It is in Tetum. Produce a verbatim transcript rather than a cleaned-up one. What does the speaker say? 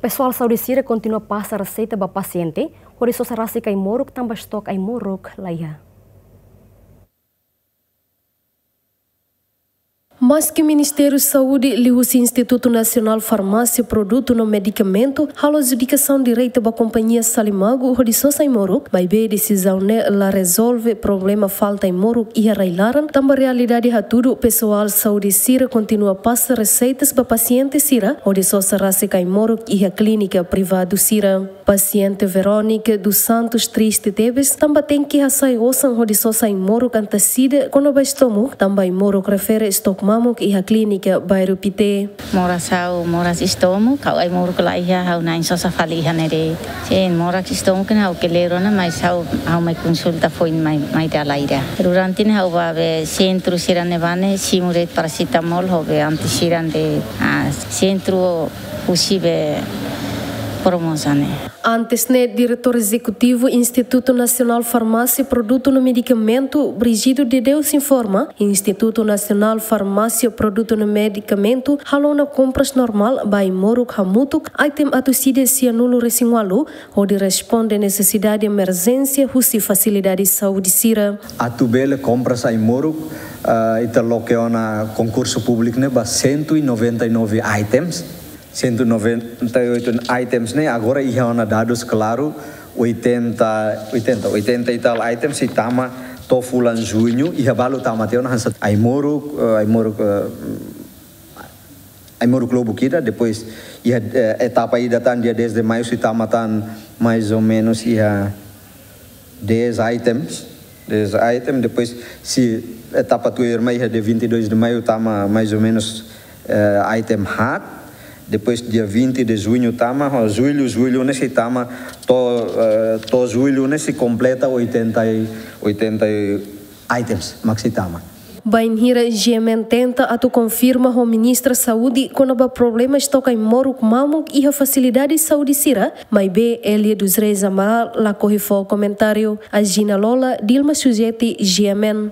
Pesoál saúde sira kontinua pasa reseita ba pasiente hodi sosa rasik ai-moruk tanba estok ai-moruk laiha. Maski Ministériu Saúde liuhusi Institutu Nasionál Farmásia Produtu no Medikamentu halo adjudikasaun direta ba kompañia Salimagu hodi sosa ai-moruk, maibé desizaun ne'e la rezolve problema falta ai-moruk iha rai-laran, tanba realidade hatudu pesoál saúde sira kontinua pasa reseitas ba pasiente sira hodi sosa rasik ai-moruk iha klínika privadu sira. Pasiente Verónica dos Santos triste tebes tanba tenke hasai osan hodi sosa ai-moruk antes ida kona-ba estomuk tanba ai-moruk refere estok mamuk iha klínika Bairru Pité. Moras ha'u, moras estomuk, ha'u ai-moruk laiha, ha'u na'in sosa fali iha ne'e de'it. Sin, moras estomuk ne'e ha'u kleur ona, mas ha'u, ha'u mai konsulta foin mai, mai dala ida. Durante ne'e ha'u bá be sentru sira ne'ebá ne'e simu de'it paracetamol ho be anti sira de'it, ah, sentru husi be Formosa ne'e. Antes ne'e, Diretór Ezekutivu Institutu Nasionál Farmásia Produtu no Medikamentu, Brígido de Deus, informa, Institutu Nasionál Farmásia Produtu no Medikamentu halo ona kompras normál ba ai-moruk hamutuk, item atus ida sianulu resin ualu, hodi responde nesesidade emerjénsia husi fasilidade saúde sira. Atu bele kompras ai-moruk, ah, ita loke ona konkursu públiku ne'e ba cento e noventa e nove items. Cento e noventa e oito items ne'e, agora iha ona dadus klaru, oitenta, oitenta, oitenta e tal items sei tama to'o fulan juñu, iha balu tama tiha ona hanesan ai-moruk, eh, ai-moruk, eh, ai-moruk lubuk ida, depois iha, eh, etapa ida tan dia dez de maiu sei tama tan mais ou menos iha dez items, dez items, depois sei etapa tuirmai iha dia vinte e dois de maiu tama mais ou menos, eh, item haat, depois dia vinte de juñu tama, ho jullu, jullu ne'e sei tama, to'o, eh, to'o jullu ne'e sei kompleta oitenta e, oitenta e items mak sei tama. Bainhira G M N tenta atu konfirma ho Ministra Saúde kona-ba problema estok ai-moruk mamuk iha fasilidade saúde sira, maibé Elia dos Reis Amaral la ohin fó komentáriu. Agina Lola, Dilma Sujeti, G M N.